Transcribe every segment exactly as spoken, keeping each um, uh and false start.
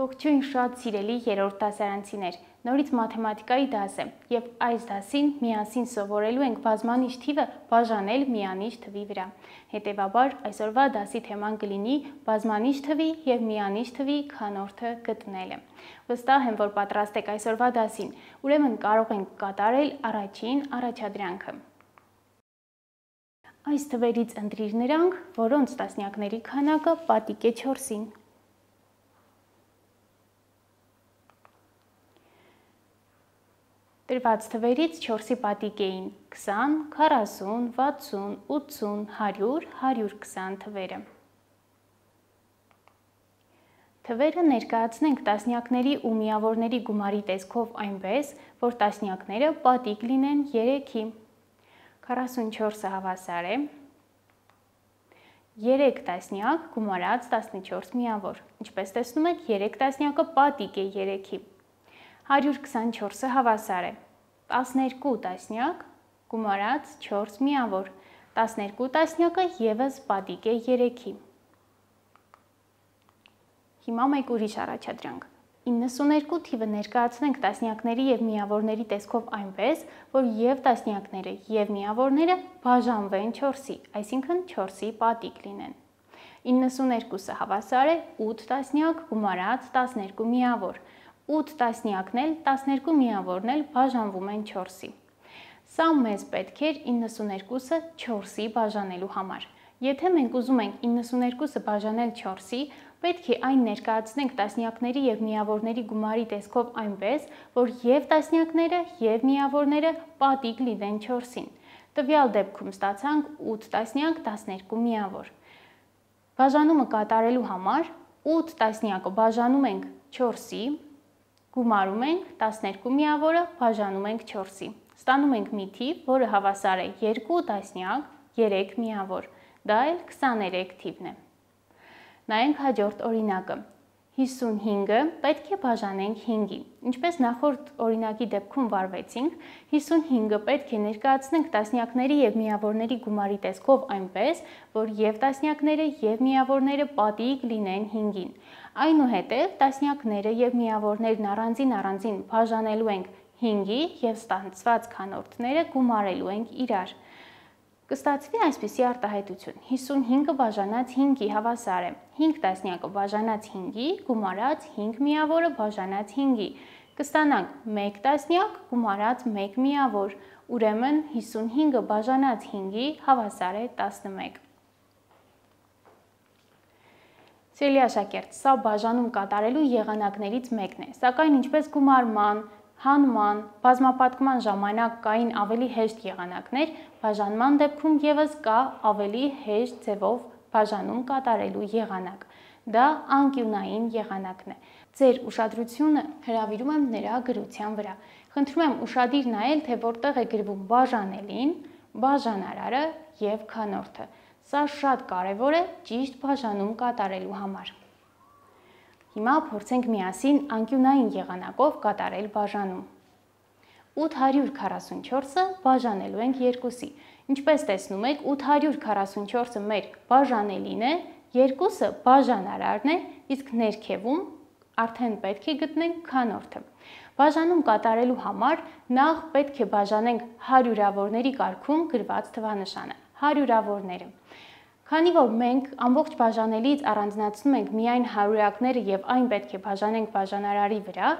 Ողջույն շատ սիրելի երրորդ դասարանցիներ, նորից մաթեմատիկայի դաս է և այս դասին միասին սովորելու ենք բազմանիշ թիվը բաժանել միանիշ թվի վրա։ Հետևաբար այսօրվա դասի թեման կլինի բազմանիշ թվի և միանիշ թվի քանորդը գտնելը։ Վստահ եմ, որ պատրաստ եք այսօրվա դասին, ուրեմն կարող ենք կատարել առաջին առաջադրանքը։ Այս թվերից ընտրիր նրանք, որոնց տասնյակների քանակը պատիկ է չորսին։ Տրված թվերից չորսի պատիկ էին քսան, քառասուն, վաթսուն, ութսուն, հարյուր, հարյուր քսան թվերը։ Թվերը ներկայացնենք տասնյակների ու միավորների գումարի տեսքով այնպես, որ տասնյակները պատիկ լինեն երեքի։ քառասունչորսը հավասար է երեք տասնյակ գումարած տասնչորս միավոր։ Ինչպես տեսնում եք, երեք տասնյակը պատիկ է երեքի։ հարյուր քսանչորսը հավասար է տասներկու տասնյակ գումարած չորս միավոր։ տասներկու տասնյակը ևս պատիկ է երեքի։ Հիմա մեկ ուրիշ առաջադրանք։ իննսուներկու թիվը ներկայացնենք տասնյակների և միավորների տեսքով այնպես, որ և տասնյակները և միավորները բաժանվեն չորսի, այսինքն չորսի պատիկ լինեն։ իննսուներկուսը հավասար է ութ տասնյակ գումարած տասներկու միավոր։ ութ տասնյակն էլ, տասներկու միավորն էլ բաժանվում են չորսի։ Սա մեզ պետք էր իննսուներկուսը չորսի բաժանելու համար։ Եթե մենք ուզում ենք իննսուներկուսը բաժանել չորսի, պետք է այն ներկայացնենք տասնյակների և միավորների գումարի տեսքով այնպես, որ և տասնյակները և միավորները պատիկ լինեն չորսին։ Տվյալ դեպքում ստացանք ութ տասնյակ տասներկու միավոր։ Բաժանումը կատարելու համար ութ տասնյակը բաժանում ենք չորսի, գումարում ենք տասներկու միավորը բաժանում ենք չորսի։ Ստանում ենք մի թիվ, որը հավասար է երկու տասնյակ երեք միավոր, դա էլ քսաներեք թիվն է։ Նայենք հաջորդ օրինակը։ հիսունհինգը պետք է բաժանենք հինգի։ Ինչպես նախորդ օրինակի դեպքում վարվեցինք, հիսունհինգը պետք է ներկայացնենք տասնյակների և միավորների գումարի տեսքով այնպես, որ և տասնյակները և միավորները պատիկ լինեն հինգին։ Այնուհետև տասնյակները և միավորներն առանձին առանձին բաժանելու ենք հինգի և ստացված քանորդները գումարելու ենք իրար։ Կստացվի այսպիսի արտահայտություն. հիսունհինգը բաժանած հինգի հավասար է հինգ տասնյակը բաժանած հինգի գումարած հինգ միավորը բաժանած հինգի։ Կստանանք մեկ տասնյակ գումարած մեկ միավոր, ուրեմն հիսունհինգը բաժանած հինգի հավասար է տասնմեկ։ Սիրելի աշակերտ, սա բաժանում կատարելու եղանակներից մեկն է, սակայն ինչպես գումարման, հանման, բազմապատկման ժամանակ կային ավելի հեշտ եղանակներ, բաժանման դեպքում ևս կա ավելի հեշտ ձևով բաժանում կատարելու եղանակ։ Դա անկյունային եղանակն է։ Ձեր ուշադրությունը հրավիրում եմ նրա գրության վրա։ Խնդրում եմ ուշադիր նայել, թե որտեղ է գրվում բաժանելին, բաժանարարը և քանորդը։ Սա շատ կարևոր է ճիշտ բաժանում կատարելու համար։ Հիմա փորձենք միասին անկյունային եղանակով կատարել բաժանում։ ութ հարյուր քառասունչորսը բաժանելու ենք երկուսի։ Ինչպես տեսնում եք, ութ հարյուր քառասունչորսը մեր բաժանելին է, երկուսը բաժանարարն է, իսկ ներքևում արդեն պետք է գտնենք քանորդը։ Բաժանում կատարելու համար նախ պետք է բաժանենք հարյուրավորների կարգում գրված թվանշանը, հարյուրավորները։ Քանի որ մենք ամբողջ բաժանելից առանձնացնում ենք միայն հարյուրակները և այն պետք է բաժանենք բաժանարարի վրա,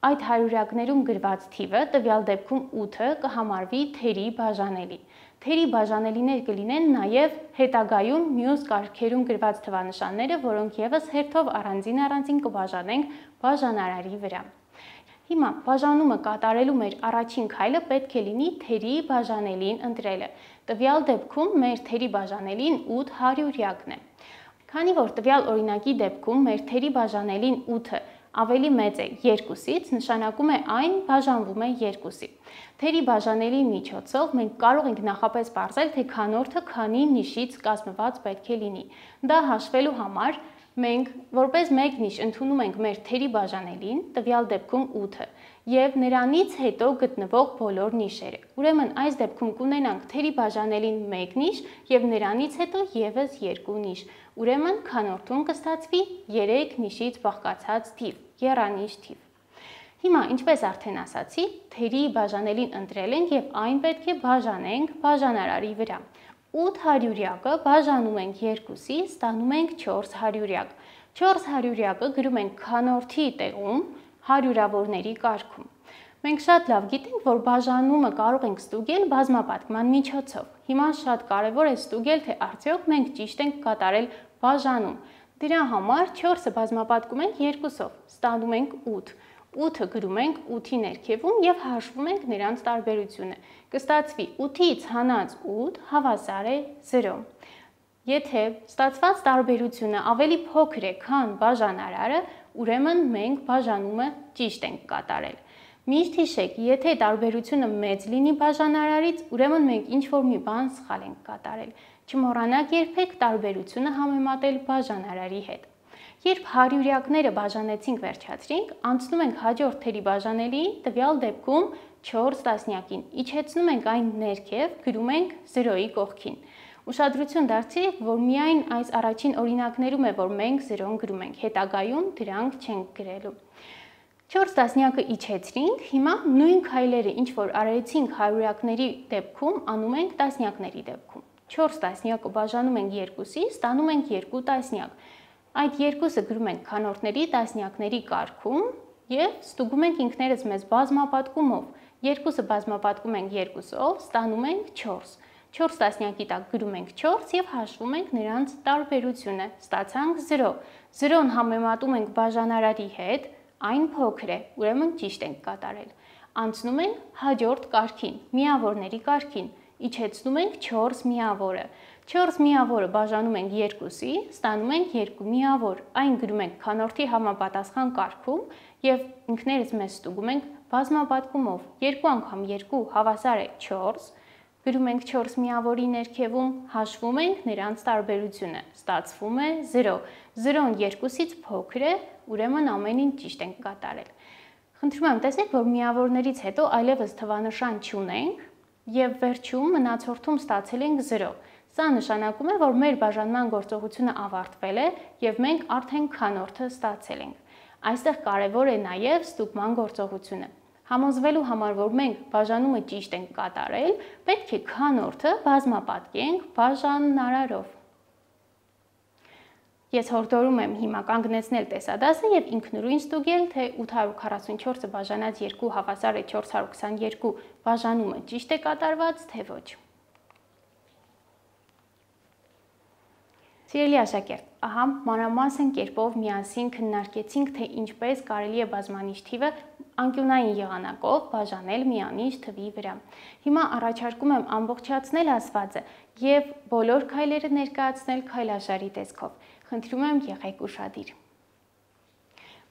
այդ հարյուրակներում գրված թիվը, տվյալ դեպքում ութը, կհամարվի թերի բաժանելի։ Թերի բաժանելիներ կլինեն նաև հետագայում մյուս կարգերում գրված թվանշանները, որոնք ևս հերթով առանձին առանձին կբաժանենք բաժանարարի վրա։ Հիմա բաժանումը կատարելու մեր առաջին քայլը պետք է լինի թերի բաժանելին ընտրելը։ Տվյալ դեպքում մեր թերի բաժանելին ութ հարյուրյակն է։ Քանի որ տվյալ օրինակի դեպքում մեր թերի բաժանելին ութը ավելի մեծ է երկուսից, նշանակում է այն բաժանվում է երկուսի։ Թերի բաժանելի միջոցով մենք կարող ենք նախապես պարզել, թե քանորդը քանի նիշից կազմված պետք է լինի։ Դա հաշվելու համար Մենք որպես մեկ նիշ ընդունում ենք մեր թերի բաժանելին, տվյալ դեպքում ութը, եւ նրանից հետո գտնվող բոլոր նիշերը։ Ուրեմն այս դեպքում կունենանք թերի բաժանելին մեկ նիշ եւ նրանից հետո եւս երկու նիշ։ Ուրեմն քանորդում կստացվի երեք նիշից բաղկացած թիվ, եռանիշ թիվ։ Հիմա, ինչպես արդեն ասացի, թերի բաժանելին ընտրել ենք եւ այն պետք է բաժանենք բաժանարարի վրա։ ութ հարյուրյակը բաժանում ենք երկուսի, ստանում ենք չորս հարյուրյակ։ չորս հարյուրյակը գրում ենք քանորդի տեղում հարյուրավորների կարգում։ Մենք շատ լավ գիտենք, որ բաժանումը կարող ենք ստուգել բազմապատկման միջոցով։ Հիմա շատ կարևոր է ստուգել, թե արդյոք մենք ճիշտ ենք կատարել բաժանում։ Դրա համար չորսը բազմապատկում ենք երկուսով, ստանում ենք ութ։ ութը գրում ենք ութի ներքևում եւ հաշվում ենք նրանց տարբերությունը։ Կստացվի ութից հանած ութ հավասար է զրո։ Եթե ստացված տարբերությունը ավելի փոքր է, քան բաժանարարը, ուրեմն մենք բաժանումը ճիշտ ենք կատարել։ Միշտ հիշեք, եթե տարբերությունը մեծ լինի բաժանարարից, ուրեմն մենք ինչ-որ մի բան սխալ ենք կատարել։ Չմոռանաք երբեք տարբերությունը համեմատել բաժանարարի հետ։ Երբ հարյուրյակները բաժանեցինք վերջացրինք, անցնում ենք հաջորդ թերի բաժանելիին, տվյալ դեպքում չորս տասնյակին, իջեցնում ենք այն ներքև, գրում ենք զրոյի կողքին։ Ուշադրություն դարձրեք, որ միայն այս առաջին օրինակներում է, որ մենք զրոն գրում ենք, հետագայում դրանք չենք գրելու։ չորս տասնյակը իջեցրինք, հիմա նույն քայլերը, ինչ որ արեցինք հարյուրյակների դեպքում, անում ենք տասնյակների դեպքում։ չորս տասնյակը բաժանում ենք երկուսի, ստանում ենք երկու տասնյակ։ Այդ երկուսը գրում ենք քանորդների տասնյակների կարգում եւ ստուգում ենք ինքներս մեզ բազմապատկումով։ Երկուսը բազմապատկում ենք երկուսով, ստանում ենք չորս։ չորս տասնյակի տակ գրում ենք չորս եւ հաշվում ենք նրանց տարբերությունը։ Ստացանք զրո։ զրոն համեմատում ենք բաժանարարի հետ, այն փոքր է, ուրեմն ճիշտ ենք կատարել։ Անցնում ենք հաջորդ կարգին, միավորների կարգին։ Իջեցնում ենք չորս միավորը։ չորս միավորը բաժանում ենք երկուսի, ստանում ենք երկու միավոր։ Այն գրում ենք քանորդի համապատասխան կարգում եւ ինքներս մեզ ստուգում ենք բազմապատկումով։ Երկու անգամ երկու հավասար է չորս։ Գրում ենք չորս միավորի ներքևում, հաշվում ենք նրանց տարբերությունը։ Ստացվում է զրո։ զրոն երկուսից փոքր է, ուրեմն ամեն ինչ ճիշտ ենք կատարել։ Խնդրում եմ տեսեք, որ միավորներից հետո այլևս թվանշան չունենք եւ վերջում մնացորդում ստացել ենք զրո։ Սա նշանակում է, որ մեր բաժանման գործողությունը ավարտվել է եւ մենք արդեն քանորդը ստացել ենք։ Այստեղ կարևոր է նաեւ ստուգման գործողությունը։ Համոզվելու համար, որ մենք բաժանումը ճիշտ ենք կատարել, պետք է քանորդը բազմապատկենք բաժանարարով։ Ես հորդորում եմ հիմա կանգնեցնել տեսադասը եւ ինքնուրույն ստուգել, թե ութ հարյուր քառասունչորսը բաժանած երկու հավասար է չորս հարյուր քսաներկու բաժանումը ճիշտ է կատարված, թե ոչ։ Սիրելի աշակերտ, ահա մանրամասն կերպով միասին քննարկեցինք, թե ինչպես կարելի է բազմանիշ թիվը անկյունային եղանակով բաժանել միանիշ թվի վրա։ Հիմա առաջարկում եմ ամբողջացնել ասվածը եւ բոլոր քայլերը ներկայացնել քայլաշարի տեսքով։ Խնդրում եմ եղեք ուշադիր։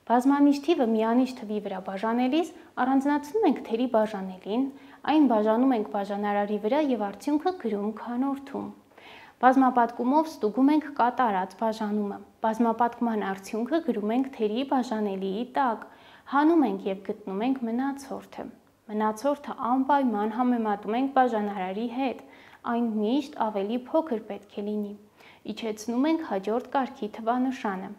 Բազմանիշ թիվը միանիշ թվի վրա բաժանելիս առանձնացնում ենք թերի բաժանելին, այն բաժանում ենք բաժանարարի վրա եւ արդյունքը գրում քանորդում։ Բազմապատկումով ստուգում ենք կատարած բաժանումը։ Բազմապատկման արդյունքը գրում ենք թերի բաժանելիի տակ, հանում ենք եւ գտնում ենք մնացորդը։ Մնացորդը անպայման համեմատում ենք բաժանարարի հետ, այն միշտ ավելի փոքր պետք է լինի։ Իջեցնում ենք հաջորդ կարգի թվանշանը։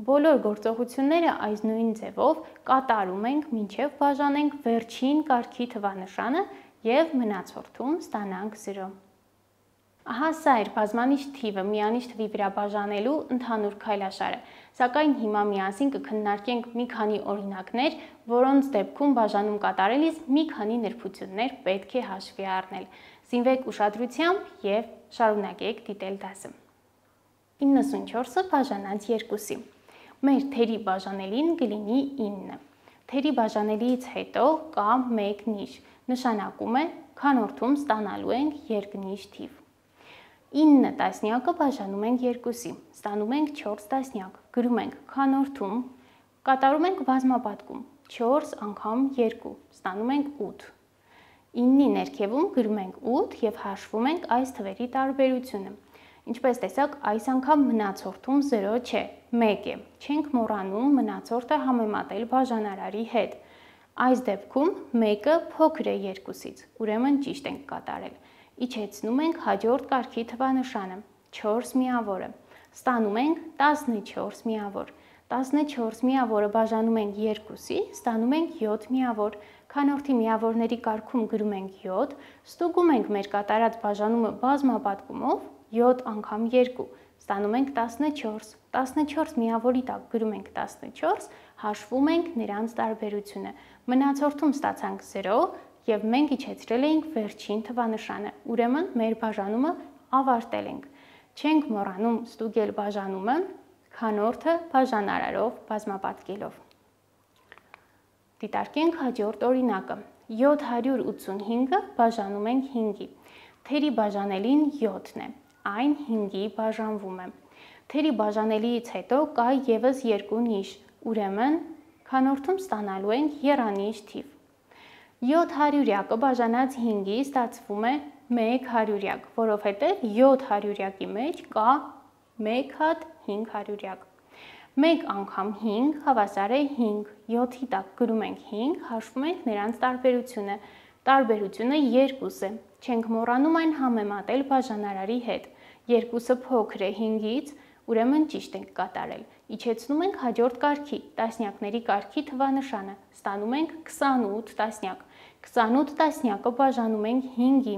Բոլոր գործողությունները այս նույն ձևով կատարում ենք, մինչև բաժանենք վերջին կարգի թվանշանը եւ մնացորդում ստանանք զրո։ Ահա սա էր բազմանիշ թիվը միանիշ թվի վրա բաժանելու ընդհանուր քայլաշարը, սակայն հիմա միասին կքննարկենք մի քանի օրինակներ, որոնց դեպքում բաժանում կատարելիս մի քանի նրբություններ պետք է հաշվի առնել։ Զինվեք ուշադրությամբ եւ շարունակեք դիտել դասը։ իննսունչորսը բաժանած երկուսի։ Մեր թերի բաժանելին կլինի ինը։ Թերի բաժանելիից հետո կա մեկ նիշ, նշանակում է քանորդում ստանալու ենք երկնիշ թիվ։ ինը տասնյակը բաժանում ենք երկուսի, ստանում ենք չորս տասնյակ, գրում ենք քանորդում, կատարում ենք բազմապատկում, չորս անգամ երկու, ստանում ենք ութ։ իննի ներքևում գրում ենք ութ եւ հաշվում ենք այս թվերի տարբերությունը։ Ինչպես տեսակ, այս անգամ մնացորդում զրո չէ, մեկ է։ Չենք մոռանում մնացորդը համեմատել բաժանարարի հետ։ Այս դեպքում մեկը փոքր է երկուսից, ուրեմն ճիշտ ենք կատարել։ Իջեցնում ենք հաջորդ կարգի թվանշանը, չորս միավորը։ Ստանում ենք տասնչորս միավոր։ տասնչորս միավորը բաժանում ենք երկուսի, ստանում ենք յոթ միավոր։ Քանորդի միավորների կարգում գրում ենք յոթ, ստուգում ենք մեր կատարած բաժանումը բազմապատկումով, յոթ անգամ երկու, ստանում ենք տասնչորս։ տասնչորս միավորի տակ գրում ենք տասնչորս, հաշվում ենք նրանց տարբերությունը։ Մնացորդում ստացանք զրո և մենք իջեցրել էինք վերջին թվանշանը, ուրեմն մեր բաժանումը ավարտել ենք։ Չենք մոռանում ստուգել բաժանումը, քանորդը բաժանարարով բազմապատկելով։ Դիտարկենք հաջորդ օրինակը։ յոթ հարյուր ութսունհինգը բաժանում ենք հինգի։ Թերի բաժանելին յոթն է, այն հինգի բաժանվում է։ Թերի բաժանելիից հետո կա ևս երկու նիշ, ուրեմն քանորդում ստանալու ենք եռանիշ թիվ։ յոթ հարյուրյակը բաժանած հինգի ստացվում է մեկ հարյուրյակ, որովհետև յոթ հարյուրյակի մեջ կա մեկ հատ հինգ հարյուրյակ։ մեկ անգամ հինգ հավասար է հինգ, յոթի տակ գրում ենք հինգ, հաշվում ենք նրանց տարբերությունը։ Տարբերությունը երկուս է, չենք մոռանում այն համեմատել բաժանարարի հետ։ Երկուսը փոքր է հինգից, ուրեմն ճիշտ ենք կատարել։ Իջեցնում ենք հաջորդ կարգի, տասնյակների կարգի թվանշանը, ստանում ենք քսանութ տասնյակ։ քսանութ տասնյակը բաժանում ենք հինգի։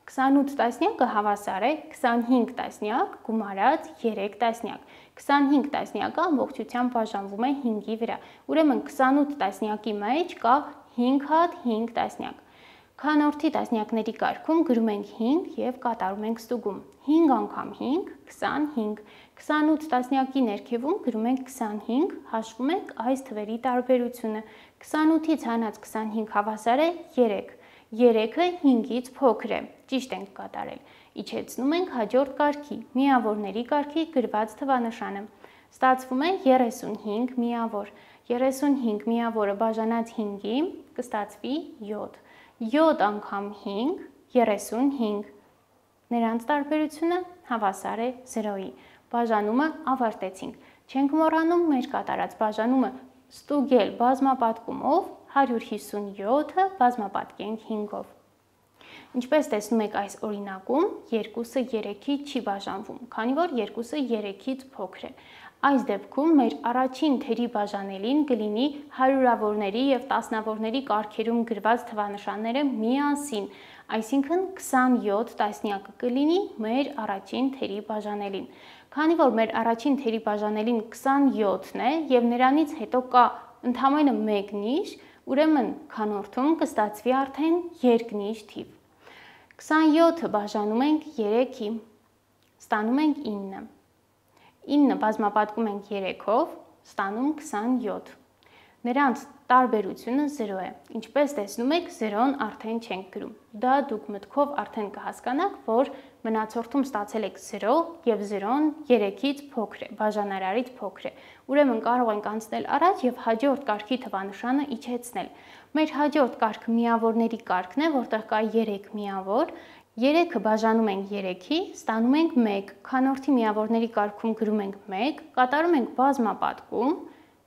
քսանութ տասնյակը հավասար է քսանհինգ տասնյակ գումարած երեք տասնյակ։ քսանհինգ տասնյակը ամբողջությամբ բաժանվում է հինգի վրա, ուրեմն քսանութ տասնյակի մեջ կա հինգ հատ հինգ տասնյակ։ Քանորդի տասնյակների կարգում գրում ենք հինգ և կատարում ենք ստուգում։ հինգ անգամ հինգ, քսանհինգ։ քսանութ տասնյակի ներքևում գրում ենք քսանհինգ, հաշվում ենք այս թվերի տարբերությունը։ քսանութից հանած քսանհինգ հավասար է երեք։ երեքը հինգից փոքր է, ճիշտ ենք կատարել։ Իջեցնում ենք հաջորդ կարգի, միավորների կարգի գրված թվանշանը։ Ստացվում է երեսունհինգ միավոր։ երեսունհինգ միավորը բաժանած հինգի կստացվի յոթ։ յոթ անգամ հինգ, երեսունհինգ։ Նրանց տարբերությունը հավասար է զրոյի։ Բաժանումը ավարտեցինք։ Չենք մոռանում մեր կատարած բաժանումը ստուգել բազմապատկումով, հարյուր հիսունյոթը բազմապատկենք հինգով։ Ինչպես տեսնում եք այս օրինակում, երկուսը երեքի չի բաժանվում, քանի որ երկուսը երեքից փոքր է։ Այս դեպքում մեր առաջին թերի բաժանելին կլինի հարյուրավորների և տասնավորների կարգերում գրված թվանշանները միասին, այսինքն քսանյոթ տասնյակը կլինի մեր առաջին թերի բաժանելին։ Քանի որ մեր առաջին թերի բաժանելին քսանյոթն է և նրանից հետո կա ընդամենը մեկ նիշ, ուրեմն քանորդում կստացվի արդեն երկնիշ թիվ։ քսանյոթը բաժանում ենք երեքի, ստանում ենք ինը։ ինը բազմապատկում ենք երեքով, ստանում քսանյոթ։ Նրանց տարբերությունը զրո է։ Ինչպես տեսնում եք, զրոն արդեն չենք գրում։ Դա դուք մտքով արդեն կհասկանաք, որ մնացորդում ստացել եք զրո և զրոն երեքից փոքր է, բաժանարարից փոքր է։ Ուրեմն կարող ենք անցնել առաջ և հաջորդ կարգի թվանշանը իջեցնել։ Մեր հաջորդ կարգը միավորների կարգն է, որտեղ կա երեք միավոր։ երեքը բաժանում ենք երեքի, ստանում ենք մեկ, քանորդի միավորների կարգում գրում ենք մեկ, կատարում ենք բազմապատկում,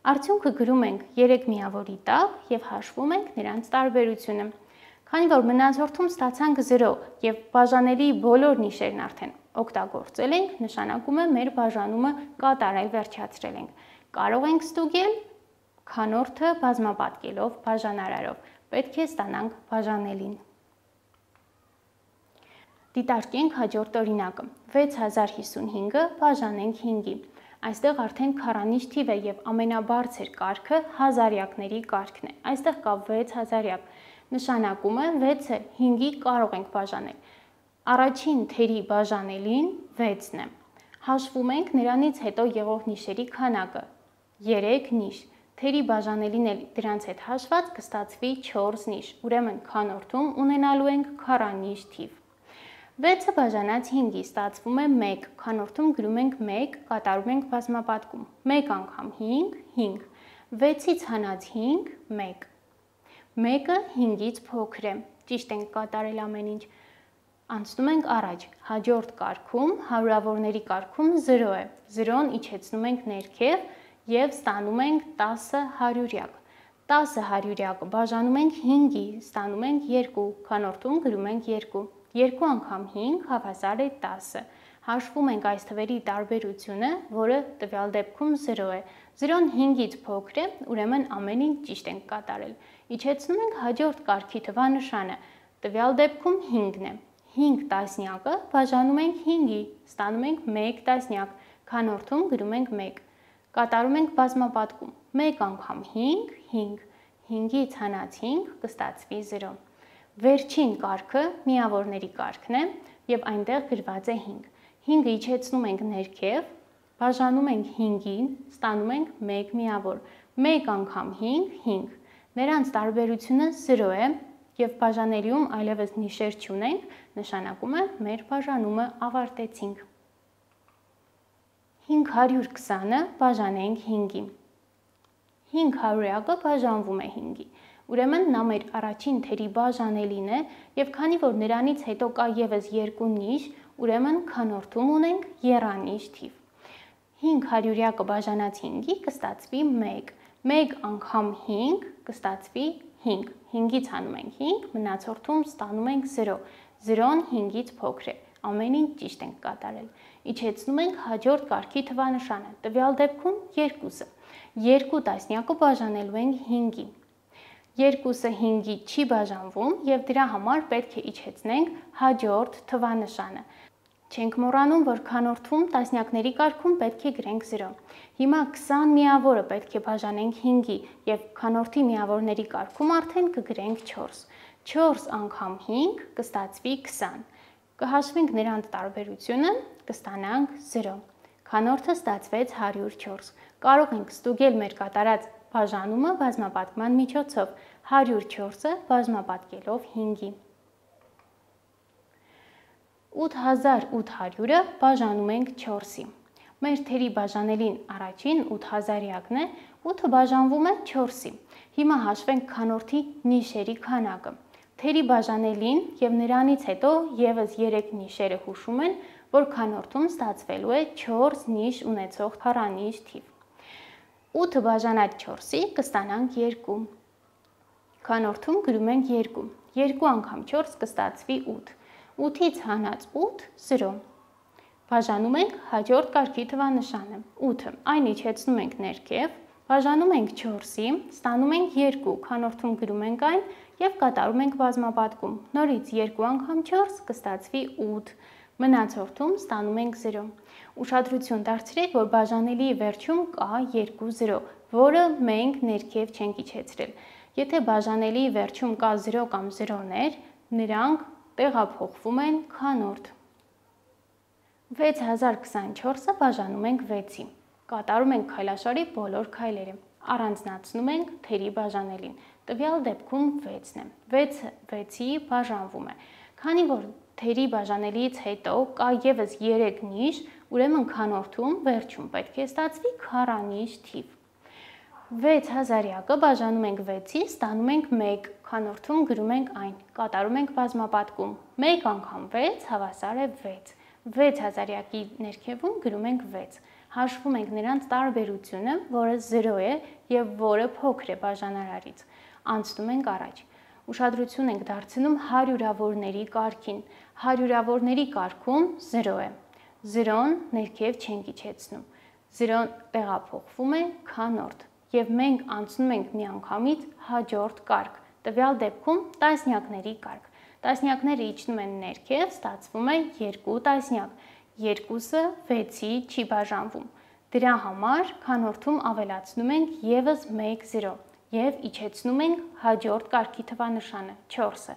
արդյունքը գրում ենք երեք միավորի տակ և հաշվում ենք նրանց տարբերությունը։ Քանի որ մնացորդում ստացանք զրո և բաժանելի բոլոր նիշերն արդեն օգտագործել ենք, նշանակում է մեր բաժանումը կատարել վերջացրել ենք։ Կարող ենք ստուգել քանորդը բազմապատկելով բաժանարարով, պետք է ստանանք բաժանելին։ Դիտարկենք հաջորդ օրինակը։ վեց հազար հիսունհինգը բաժանենք հինգի։ Այստեղ արդեն քառանիշ թիվ է և ամենաբարձր կարգը հազարյակների կարգն է։ Այստեղ կա վեց հազարյակ, նշանակում է վեցը հինգի կարող ենք բաժանել։ Առաջին թերի բաժանելին վեցն է։ Հաշվում ենք նրանից հետո եղող նիշերի քանակը, երեք նիշ։ Թերի բաժանելին էլ դրանց հետ հաշված կստացվի չորս նիշ, ուրեմն քանորդում ունենալու ենք քառանիշ թիվ։ վեցը բաժանած հինգի ստացվում է մեկ, քանորդում գրում ենք մեկ, կատարում ենք բազմապատկում։ մեկ անգամ հինգ, հինգ, վեցից հանած հինգ, մեկ։ մեկը հինգից փոքր է, ճիշտ ենք կատարել ամեն ինչ։ Անցնում ենք առաջ, հաջորդ կարգում, հարյուրավորների կարգում զրո է, զրոն իջեցնում ենք ներքև և ստանում ենք տասը հարյուրյակ, տասը հարյուրյակ բաժանում ենք հինգի, ստանում ենք երկու, քանորդում գրում ենք երկու, երկու անգամ հինգ հավասար է տասը, հաշվում ենք այս թվերի տարբերությունը, որը տվյալ դեպքում զրո է, զրոն հինգից փոքր է, ուրեմն ամեն ինչ ճիշտ ենք կատարել, իջեցնում ենք հաջորդ կարգի թվանշանը, տվյալ դեպքում հինգն է, հինգ տասնյակը բաժանում ենք հինգի, ստանում ենք մեկ տասնյակ, քանորդում գրում ենք մեկ, կատարում ենք բազմապատկում, մեկ անգամ հինգ, հինգ, հինգից հանած հինգ կստացվի զրո, վերջին կարգը միավորների կարգն է և այնտեղ գրված է հինգ, հինգը իջեցնում ենք ներքև, բաժանում ենք հինգին, ստանում ենք մեկ միավոր, մեկ անգամ հինգ, հինգ, նրանց տարբերությունը զրո է և բաժանելիում այլևս նիշեր չունենք, նշանակում է մեր բաժանումը ավարտեցինք։ հինգ հարյուր քսանը բաժանենք հինգի, հինգ հարյուրյակը բաժանվում է հինգի, ուրեմն նա մեր առաջին թերի բաժանելին է և քանի որ նրանից հետո կա ևս երկու նիշ, ուրեմն քանորդում ունենք եռանիշ թիվ, հինգ հարյուրյակը բաժանած հինգի կստացվի մեկ, մեկ անգամ հինգ կստացվի հինգ, հինգից հանում ենք հինգ, մնացորդում ստանում ենք զրո, զրոն հինգից փոքր է, ամեն ինչ ճիշտ ենք կատարել, իջեցնում ենք հաջորդ կարգի թվանշանը, տվյալ դեպքում երկուսը, երկու տասնյակը բաժանելու ենք հինգի, երկուսը հինգի չի բաժանվում և դրա համար պետք է իջեցնենք հաջորդ թվանշանը, չենք մոռանում, որ քանորդում տասնյակների կարգում պետք է գրենք զրո, հիմա քսան միավորը պետք է բաժանենք հինգի և քանորդի միավորների կարգում արդեն կգրենք չորս, չորս անգամ հինգ կստացվի քսան, կհաշվենք նրանց տարբերությունը, կստանանք զրո, քանորդը ստացվեց հարյուր չորս, կարող ենք ստուգել մեր կատարած բաժանումը բազմապատկման միջոցով, հարյուր չորսը բազմապատկելով հինգի, ութ հազար ութ հարյուրը բաժանում ենք չորսի, մեր թերի բաժանելին առաջին ութ հազարյակն է, ութը բաժանվում է չորսի, հիմա հաշվենք քանորդի նիշերի քանակը, թերի բաժանելին և նրանից հետո ևս երեք նիշերը հուշում են, որ քանորդում ստացվելու է չորս նիշ ունեցող քառանիշ թիվ, ութը բաժանած չորսի կստանանք երկու, քանորդում գրում ենք երկու, երկու անգամ չորս կստացվի ութ, ութից հանած ութ զրո, բաժանում ենք հաջորդ կարգի թվանշանը, ութը, այն իջեցնում ենք ներքև, բաժանում ենք չորսի, ստանում ենք երկու, քանորդում գրում ենք այն և կատարում ենք բազմապատկում, նորից երկու անգամ չորս կստացվի ութ, մնացորդում ստանում ենք զրո, ուշադրություն դարձրեք, որ բաժանելիի վերջում կա երկու զրո, որը մենք ներքև չենք իջեցրել, եթե բաժանելիի վերջում կա զրո կամ զրոներ, նրանք տեղափոխվում են քանորդ, վեց հազար քսանչորսը բաժանում ենք վեցի, կատարում ենք քայլաշարի բոլոր քայլերը, առանձնացնում ենք թերի բաժանելին, տվյալ դեպքում վեցն է, վեցը վեցի բաժանվում է, քանի որ թերի բաժանելիից հետո կա ևս երեք նիշ, ուրեմն քանորդում վերջում պետք է ստացվի քառանիշ թիվ, վեց հազարյակը բաժանում ենք վեցի, ստանում ենք մեկ, քանորդում գրում ենք այն, կատարում ենք բազմապատկում, մեկ անգամ վեց հավասար է վեց, վեց հազարյակի ներքևում գրում ենք վեց, հաշվում ենք նրանց տարբերությունը, որը զրո է և որը փոքր է բաժանարարից, անցնում ենք առաջ, ուշադրություն ենք դարձնում հարյուրավորների կարգին, հարյուրավորների կարգում զրո է, զրոն ներքև չենք իջեցնում, զրոն տեղափոխվում է քանորդ և մենք անցնում ենք միանգամից հաջորդ կարգ, տվյալ դեպքում տասնյակների կարգ, տասնյակները իջնում են ներքև, ստացվում է երկու տասնյակ, երկուսը վեցի չի բաժանվում, դրա համար քանորդում ավելացնում ենք ևս մեկ զրո և իջեցնում ենք հաջորդ կարգի թվանշանը, չորսը,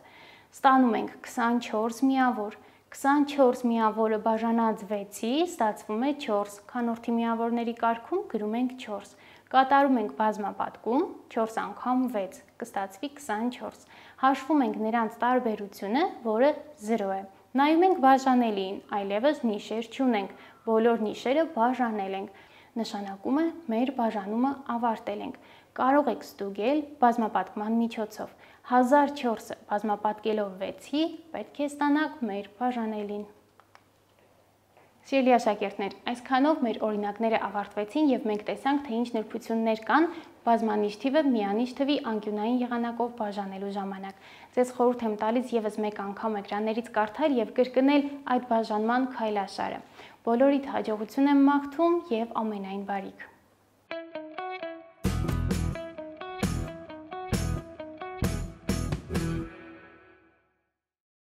ստանում ենք քսանչորս միավոր, քսանչորս միավորը բաժանած վեցի ստացվում է չորս, քանորդի միավորների կարգում գրում ենք չորս, կատարում ենք բազմապատկում, չորս անգամ վեց, կստացվի քսանչորս, հաշվում ենք նրանց տարբերությունը, որը զրո է, նայում ենք բաժանելիին, այլևս նիշեր չունենք, բոլոր նիշերը բաժանել ենք, Նշանակում է մեր բաժանումը ավարտել ենք։ Կարող եք ստուգել բազմապատկման միջոցով։ հազար չորսը բազմապատկելով վեցի պետք է ստանաք մեր բաժանելին։ Սիրելի աշակերտներ, այսքանով մեր օրինակները ավարտվեցին և մենք տեսանք, թե ինչ նրբություններ կան բազմանիշ թիվը միանիշ թվի անկյունային եղանակով բաժանելու ժամանակ։ Ձեզ խորհուրդ եմ տալիս ևս մեկ անգամ էկրաններից կարդալ և կրկնել այդ բաժանման քայլաշարը։ Բոլորիդ հաջողություն եմ մաղթում և ամենայն բարիք։